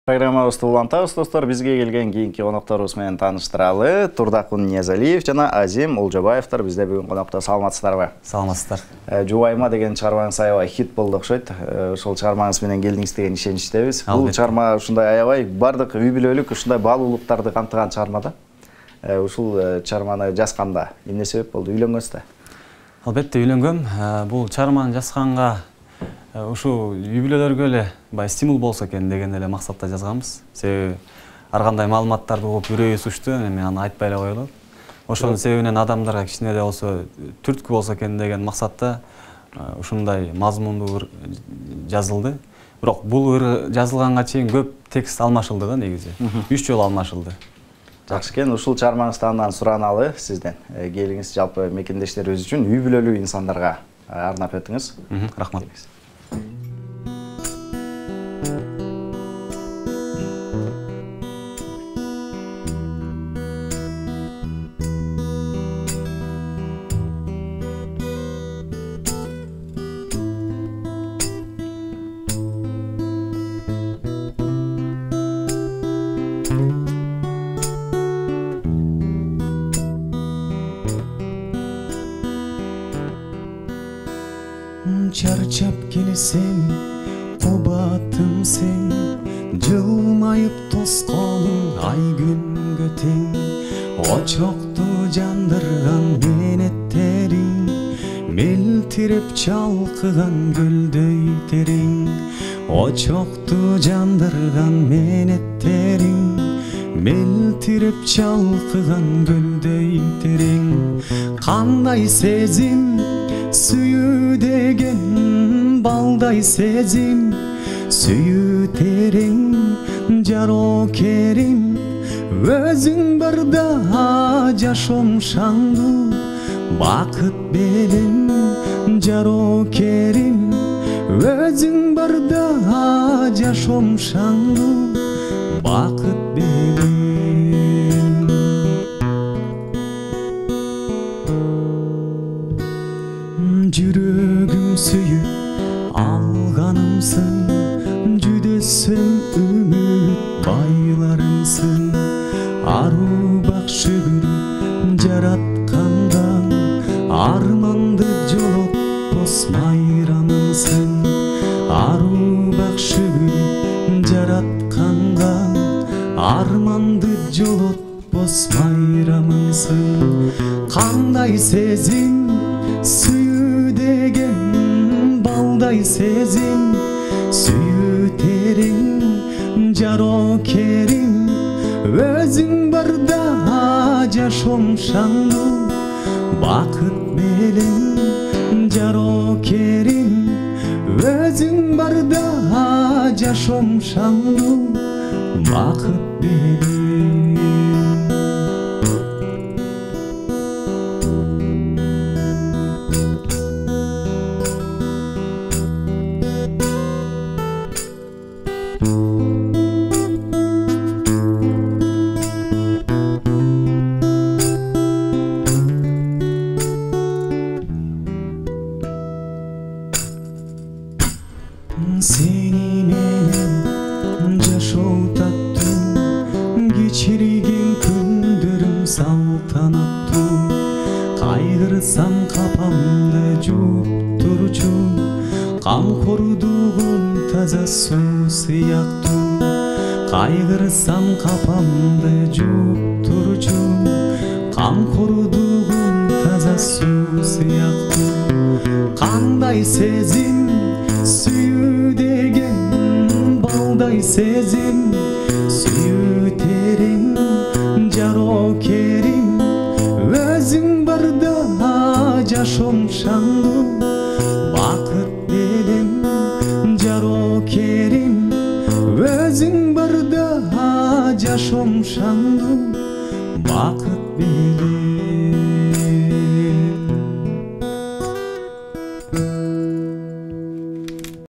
Программабызды улантабыз достор. Бизге келген кийинки конокторубуз менен тааныштыралы. Турдакун Ниязалиев жана Азим Олжобаевдер бизде бүгүн конокто. Саламатсыздарбы? Саламатсыздар. Жубайма деген чыгармаңыз аябай хит болду окшойт. Ошол чыгармаңыз менен келдиңиз деген ишеничтебиз. Бул чыгарма ушундай аябай бардык үй бүлөлүк ушундай баалуулуктарды камтыган чыгарма да. Ушул чыгарманы жазганда эмне себеп болду? Үйлөнгөнсүз да? Албетте үйлөнгөм. Бул чыгарманы жазганга ушу үй бүлөлөргө эле стимул болсо экен деген эле максатта жазганбыз. Себеби ар кандай маалыматтарды угуп үрөйү сучту, эми аны айтпай эле коелу. Ошонун себебинен адамдарга кичине эле болсо түрткү болсо экен деген максатта ушундай мазмундуу жазылды. Бирок бул жазылганга чейин көп текст алмашылды да негизи. 3 жолу алмашылды. Жакшы экен, ушул чыгармаңызды андан сураналы сизден. Келиңиз жалпы мекендештерибиз үчүн үй бүлөлүү инсандарга арнап өтүңүз. Рахмат. Чарчап келсем, кубатым сен, жылмайып тоскоолуң ай күнгө тең. Очокту жандырган менеттериң, мелтиреп чалкыган көлдөй терең. Очокту жандырган менеттериң, мелтиреп чалкыган көлдөй терең. Кандай сезим сүйүү деген, балдай сезим сүйүү терең. Жарокерим өзүң барда жашоом шаңдуу бакыт белем. Жарокерим өзүң барда жашоом шаңдуу бакыт белем. Жүрөгүм сүйүп алганымсың, жүдөсөң үмүт байларымсың. Аруу бак шүгүр жаратканда, арманды жолотпос майрамымсың. Аруу бак шүгүр жаратканда, арманды жолотпос майрамымсың. Кандай сезим сүйүү деген, балдай сезим сүйүү терең. Жарокерим өзүң барда жашоом шаңдуу бакыт белем. Жарокерим өзүң барда жашоом шаңдуу бакыт белем. Сени менен жашоо таттуу, кичирген күндөрүм салтанаттуу. Кайгырсам капамды жууп турчу, камкордугум таза суу сыяктуу. Кайгырсам капамды жууп турчу, камкордугум таза суу сыяктуу. Кандай сезим сүйүү деген, балдай сезим сүйүү терең. Жарокерим өзүң барда жашоом шаңдуу бакыт белем. Жарокерим өзүң барда жашоом шаңдуу бакыт белем.